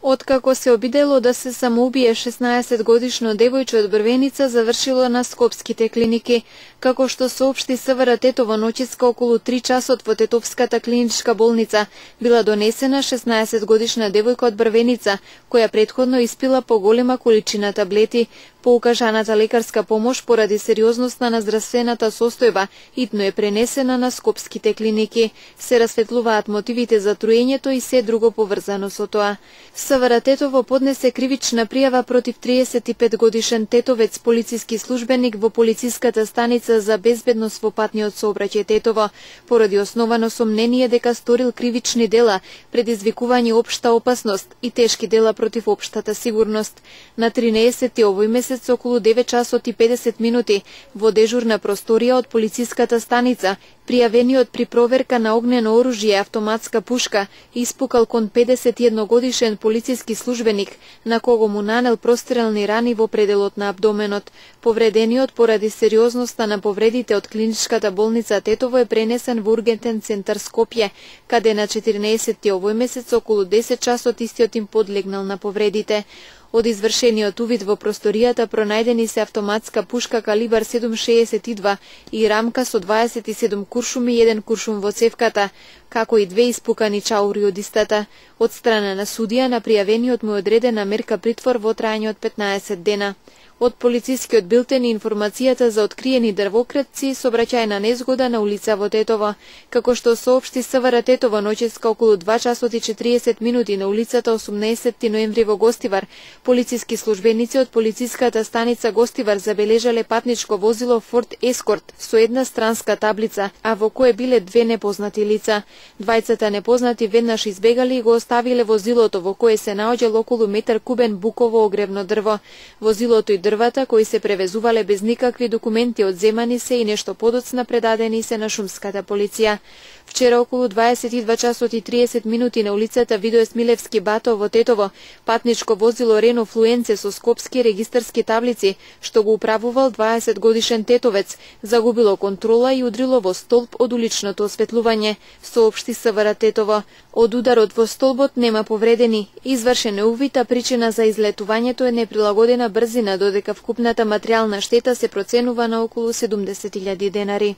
Откако се обидело да се самоубие 16-годишно девојче од Брвеница, завршило на скопските клиники. Како што соопшти СВР Тетово, ночиска околу 3 часот во Тетовската клиничка болница била донесена 16-годишна девојка од Брвеница, која претходно испила поголема количина таблети. По укажаната лекарска помош поради сериозноста на здравствената состојба, итно е пренесена на скопските клиники. Се расветлуваат мотивите за труењето и се друго поврзано со тоа. СВР Тетово поднесе кривична пријава против 35-годишен тетовец, полициски службеник во полициската станица за безбедност во патниот сообраќај Тетово, поради основано сомнение дека сторил кривични дела, предизвикување општа опасност и тешки дела против општата сигурност. На 13 овој месец околу 9 часот и 50 минути во дежурна просторија од полициската станица, пријавениот при проверка на огнено оружје автоматска пушка испукал кон 51-годишен полициски службеник, на кого му нанел прострелни рани во пределот на абдоменот. Повредениот поради сериозноста на повредите од клиничката болница Тетово е пренесен во ургентен центар Скопје, каде на 14 овој месец околу 10 часот истиот им подлегнал на повредите. Од извршениот увид во просторијата пронајдени се автоматска пушка калибар 7.62 и рамка со 27 куршуми и 1 куршум во цевката, како и 2 испукани чаури од истата. Од страна на судија на пријавениот му е одредена мерка притвор во трајање од 15 дена. Од полицискиот билтен и информацијата за откриени дрвокретци, сообраќајна незгода на улица во Тетово. Како што соопшти СВР Тетово, ноческа околу 2 часот и 40 минути на улицата 18 ноември во Гостивар, полициски службеници од полициската станица Гостивар забележале патничко возило Форд Ескорт со една странска таблица, а во кое биле 2 непознати лица. Двајцата непознати веднаш избегали и го оставиле возилото, во кое се наоѓал околу метар кубен буково огревно дрво. Возилото и дрвата кои се превезувале без никакви документи одземани се и нешто подоцна предадени се на шумската полиција. Вчера околу 22 часот и 30 минути на улицата Видоес Милевски Бато во Тетово, патничко возило Рено Флуенце со скопски регистарски таблици, што го управувал 20-годишен тетовец, загубило контрола и удрило во столб од уличното осветлување, соопшти СВР Тетово. Од ударот во столбот нема повредени. Извршен е увид, а причина за излетувањето е неприлагодена брзина, додека вкупната материјална штета се проценува на околу 70.000 денари.